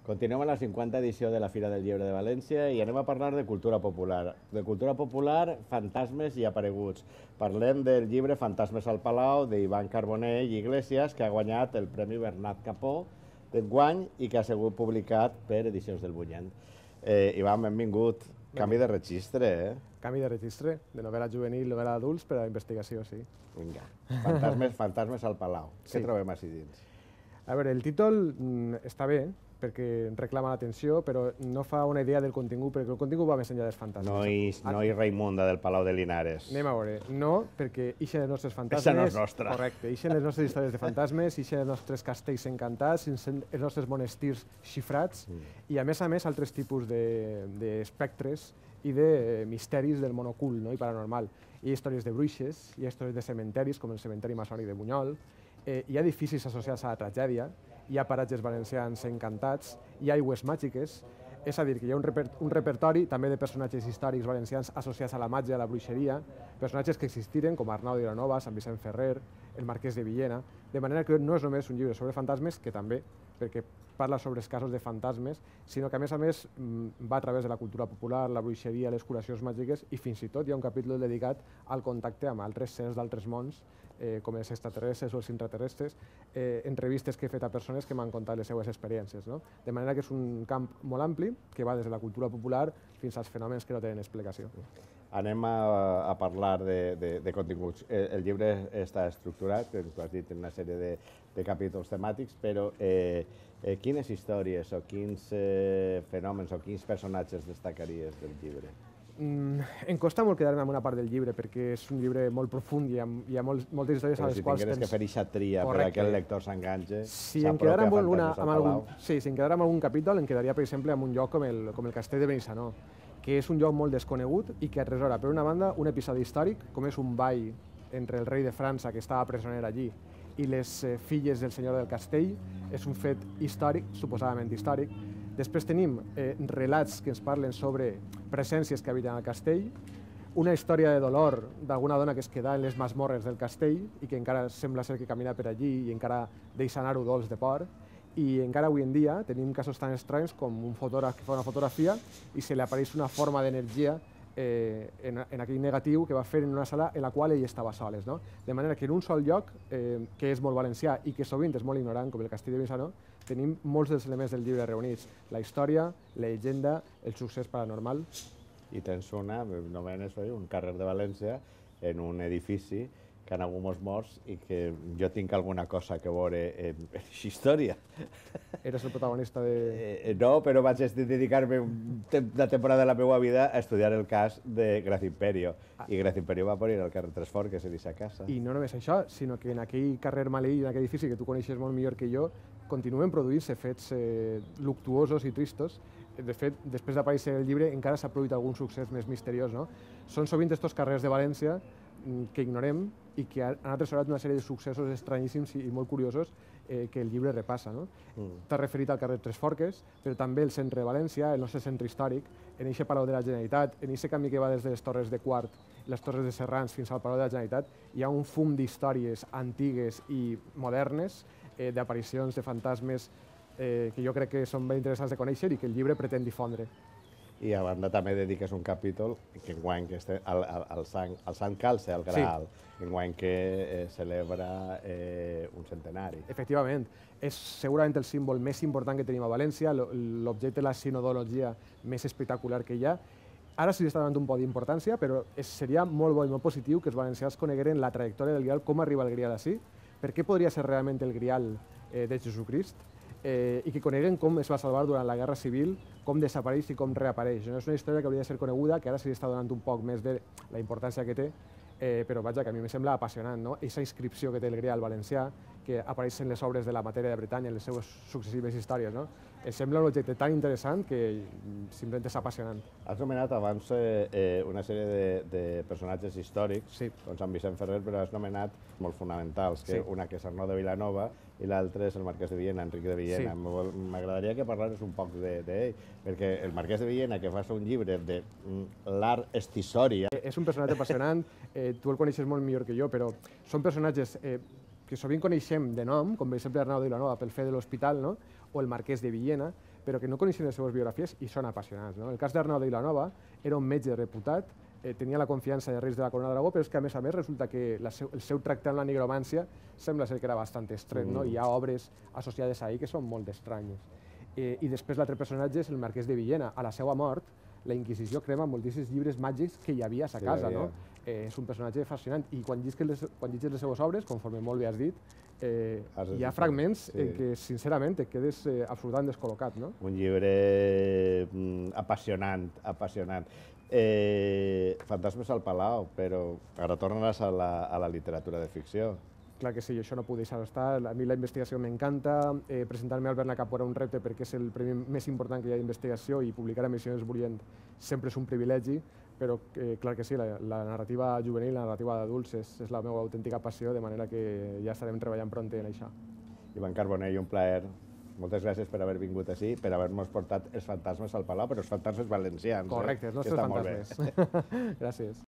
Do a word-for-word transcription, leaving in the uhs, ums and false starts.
Continuem a la cinquanta edició de la Fira del Llibre de València i anem a parlar de cultura popular. De cultura popular, fantasmes i apareguts. Parlem del llibre Fantasmes al Palau d'Ivan Carbonell i Iglesias, que ha guanyat el Premi Bernat Capó d'enguany i que ha sigut publicat per Edicions del Bunyent. Eh, Ivan, benvingut. Canvi de registre, eh? Canvi de registre, de novel·la juvenil, novel·la d'adults per a la investigació, sí. Vinga, Fantasmes, Fantasmes al Palau. Sí. Què trobem així dins? A veure, el títol mm, està bé, perquè reclama l'atenció, però no fa una idea del contingut, perquè el contingut va més enllà dels fantasmes. No hi, no hi Raimunda del Palau de Linares. Anem a veure. No, perquè ixen els nostres fantasmes... Eixa no és nostra. Correcte. Ixen les nostres històries de fantasmes, ixen els nostres castells encantats, ixen els nostres monestirs xifrats, mm. i a més a més altres tipus d'espectres i de misteris del món ocult, no? I paranormal. Hi ha històries de bruixes, hi ha històries de cementeris, com el cementeri maçònic de Bunyol, eh, hi ha edificis associats a la tragèdia, hi ha paratges valencians encantats, hi ha aigües màgiques, és a dir, que hi ha un, reper un repertori també de personatges històrics valencians associats a la màgia, a la bruixeria, personatges que existiren com Arnau de Vilanova, Sant Vicent Ferrer, el Marquès de Villena, de manera que no és només un llibre sobre fantasmes, que també, perquè parla sobre els casos de fantasmes, sinó que a més a més va a través de la cultura popular, la bruixeria, les curacions màgiques i fins i tot hi ha un capítol dedicat al contacte amb altres sers d'altres mons, eh, com els extraterrestres o els intraterrestres, eh, entrevistes que he fet a persones que m'han contat les seues experiències. No? De manera que és un camp molt ampli que va des de la cultura popular fins als fenòmens que no tenen explicació. Anem a, a parlar de, de, de continguts. El, el llibre està estructurat, que tu has dit, en una sèrie de, de capítols temàtics, però eh, eh, quines històries o quins eh, fenòmens o quins personatges destacaries del llibre? Mm, em costa molt quedar-me amb una part del llibre perquè és un llibre molt profund i hi ha, hi ha molt, moltes històries però a les si quals... Però si tingueres que fer eixa tria per que el lector s'enganxe, si em quedara amb, alguna, amb, algun, sí, si em quedara amb algun capítol, em quedaria, per exemple, amb un lloc com el, com el Castell de Benissanó, que és un lloc molt desconegut i que atresora, per una banda, un episodi històric, com és un ball entre el rei de França, que estava presoner allí, i les eh, filles del senyor del castell. És un fet històric, suposadament històric. Després tenim eh, relats que ens parlen sobre presències que habiten al castell, una història de dolor d'alguna dona que es queda en les masmorres del castell i que encara sembla ser que camina per allí i encara deixa anar-ho dolç de por. I encara avui en dia tenim casos tan estranys com un fotògraf que fa una fotografia i se li apareix una forma d'energia eh, en, en aquell negatiu que va fer en una sala en la qual ell estava soles. No? De manera que en un sol lloc, eh, que és molt valencià i que sovint és molt ignorant, com el Castell de Benissanó, tenim molts dels elements del llibre reunits. La història, la llegenda, el succés paranormal. I tens una, nomenes un carrer de València, en un edifici que han hagut molts morts i que jo tinc alguna cosa que veure en aquesta història. Eres el protagonista de... Eh, no, però vaig dedicar-me una temporada de la meva vida a estudiar el cas de Gracia Imperio. Ah. I Gracia Imperio va morir al carrer Tresfort, que és a casa. I no només això, sinó que en aquell carrer maleït, en aquell edifici que tu coneixes molt millor que jo, continuen produint-se fets eh, luctuosos i tristos. De fet, després d'aparèixer el llibre, encara s'ha produït algun succés més misteriós. No? Són sovint estos carrers de València que ignorem i que han atresorat una sèrie de successos estranyíssims i molt curiosos eh, que el llibre repassa. No? Mm. T'has referit al carrer Tres Forques, però també el centre de València, el nostre centre històric, en aquest Palau de la Generalitat, en aquest camí que va des de les Torres de Quart, les Torres de Serrans fins al Palau de la Generalitat, hi ha un fum d'històries antigues i modernes, eh, d'aparicions, de fantasmes, eh, que jo crec que són ben interessants de conèixer i que el llibre pretén difondre. I a banda també dediques un capítol que enguany que este, al, al, al, Sant, al Sant Calce, al Graal, sí. Enguany que eh, celebra eh, un centenari. Efectivament, és segurament el símbol més important que tenim a València, l'objecte de la sinodologia més espectacular que hi ha. Ara sí està donant un poc d'importància, però seria molt bo i molt positiu que els valencians conegueren la trajectòria del Grial, com arriba el Grial així, per què podria ser realment el Grial eh, de Jesucrist, Eh, i que coneguen com es va salvar durant la Guerra Civil, com desapareix i com reapareix. No és una història que hauria de ser coneguda, que ara se li està donant un poc més de la importància que té, eh, però vaja, que a mi em sembla apassionant, no? Aquesta inscripció que té el Grial valencià, que apareix en les obres de la matèria de Bretanya, en les seues successives històries, no? Em sembla un objecte tan interessant que simplement és apassionant. Has nomenat abans eh, una sèrie de, de personatges històrics, sí. Com Sant Vicent Ferrer, però has nomenat molt fonamentals, que sí. Una que és Arnau de Vilanova i l'altre és el Marquès de Villena, Enric de Villena. Sí. M'agradaria que parlares un poc d'ell, de, perquè el Marquès de Villena, que fa un llibre de l'art estisòria... És un personatge apassionant, eh, tu el coneixes molt millor que jo, però són personatges eh, que sovint coneixem de nom, com per exemple Arnau de Vilanova pel fet de l'Hospital, no? O el Marquès de Villena, però que no coneixien les seves biografies i són apassionats. No? El cas d'Arnau de Vilanova era un metge reputat, eh, tenia la confiança de reis de la Corona d'Aragó, però és que a més a més resulta que la seu, el seu tracte amb la nigromància sembla ser que era bastant estret, mm. no? Hi ha obres associades ahir que són molt estranyes. Eh, I després l'altre personatge és el marquès de Villena. A la seva mort, la Inquisició crema moltíssims llibres màgics que hi havia a sa casa. No? Eh, és un personatge fascinant i quan llegis les, quan llegis les seves obres, conforme molt bé has dit, eh, hi ha fragments sí. en què, sincerament, et quedes eh, absolutament descol·locat. No? Un llibre mm, apassionant, apassionant. Eh, Fantasmes al Palau, però ara tornes a la, a la literatura de ficció. Clar que sí, això no puc deixar estar. A mi la investigació m'encanta. Eh, Presentar-me al Bernacapó era un repte perquè és el premi més important que hi ha d'investigació i publicar a Missions Bullient sempre és un privilegi, però eh, clar que sí, la, la narrativa juvenil, la narrativa d'adults és, és la meva autèntica passió, de manera que ja estarem treballant pront en això. Ivan Carbonell, un plaer. Moltes gràcies per haver vingut així, per haver-nos portat els fantasmes al Palau, però els fantasmes valencians. Correcte, els nostres fantasmes. Gràcies.